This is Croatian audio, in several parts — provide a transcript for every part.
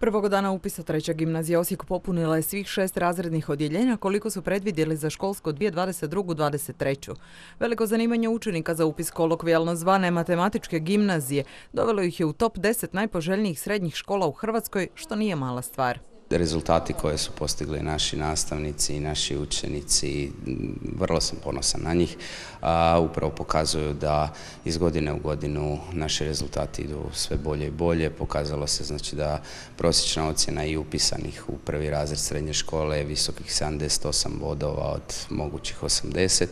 Prvog dana upisa treća gimnazija Osijek popunila je svih 6 razrednih odjeljenja koliko su predvidjeli za školsko 2022-2023. Veliko zanimanje učenika za upis kolokvijalno zvane matematičke gimnazije dovelo ih je u top 10 najpoželjnijih srednjih škola u Hrvatskoj, što nije mala stvar. Rezultati koje su postigli naši nastavnici i naši učenici, vrlo sam ponosan na njih, upravo pokazuju da iz godine u godinu naši rezultati idu sve bolje i bolje. Pokazalo se znači da prosječna ocjena i upisanih u prvi razred srednje škole je visokih 78 bodova od mogućih 80,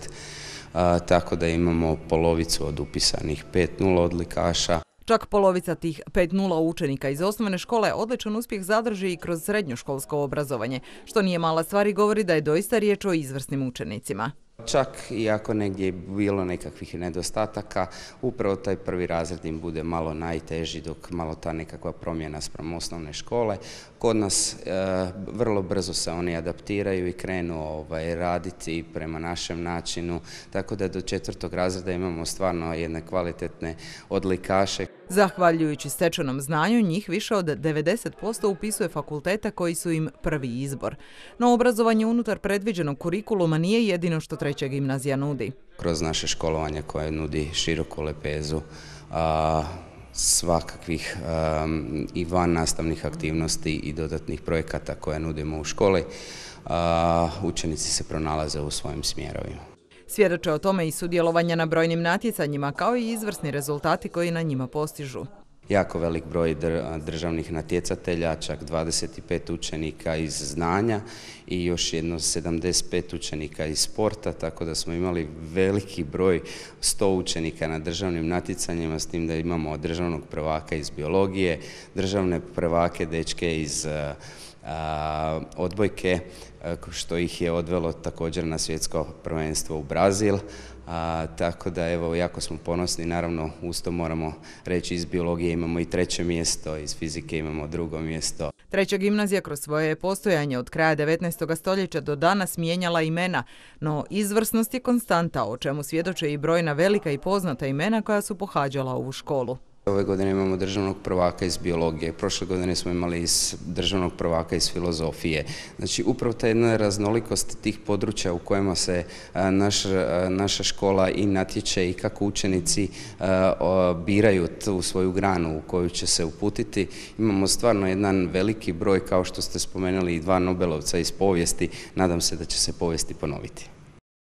tako da imamo polovicu od upisanih 5.0 odlikaša. Čak polovica tih 5.0 učenika iz osnovne škole odličan uspjeh zadrži i kroz srednjoškolsko obrazovanje, što nije mala stvar i govori da je doista riječ o izvrsnim učenicima. Čak i ako negdje je bilo nekakvih nedostataka, upravo taj prvi razred im bude malo najteži, dok malo ta nekakva promjena spram osnovne škole. Kod nas vrlo brzo se oni adaptiraju i krenu raditi prema našem načinu, tako da do 4. razreda imamo stvarno jedne kvalitetne odlikaše. Zahvaljujući stečenom znanju, njih više od 90% upisuje fakulteta koji su im prvi izbor. No obrazovanje unutar predviđenog kurikuluma nije jedino što treća gimnazija nudi. Kroz naše školovanje koje nudi široku lepezu svakakvih i van nastavnih aktivnosti i dodatnih projekata koje nudimo u školi, učenici se pronalaze u svojim smjerovima. Svjedoče o tome i sudjelovanja na brojnim natjecanjima, kao i izvrsni rezultati koji na njima postižu. Jako velik broj državnih natjecatelja, čak 25 učenika iz znanja i još jedno 75 učenika iz sporta, tako da smo imali veliki broj 100 učenika na državnim natjecanjima, s tim da imamo državnog prvaka iz biologije, državne prvake dečke iz odbojke, što ih je odvelo također na svjetsko prvenstvo u Brazil. Tako da evo, jako smo ponosni, naravno uz to moramo reći iz biologije imamo i 3. mjesto, iz fizike imamo 2. mjesto. Treća gimnazija kroz svoje postojanje od kraja 19. stoljeća do danas mijenjala imena, no izvrsnost je konstanta, o čemu svjedoče i brojna velika i poznata imena koja su pohađala ovu školu. Ove godine imamo državnog prvaka iz biologije, prošle godine smo imali državnog prvaka iz filozofije. Znači upravo ta jedna raznolikost tih područja u kojima se naša škola i natječe i kako učenici biraju tu svoju granu u koju će se uputiti. Imamo stvarno jedan veliki broj, kao što ste spomenuli, i 2 Nobelovca iz povijesti. Nadam se da će se povijesti ponoviti.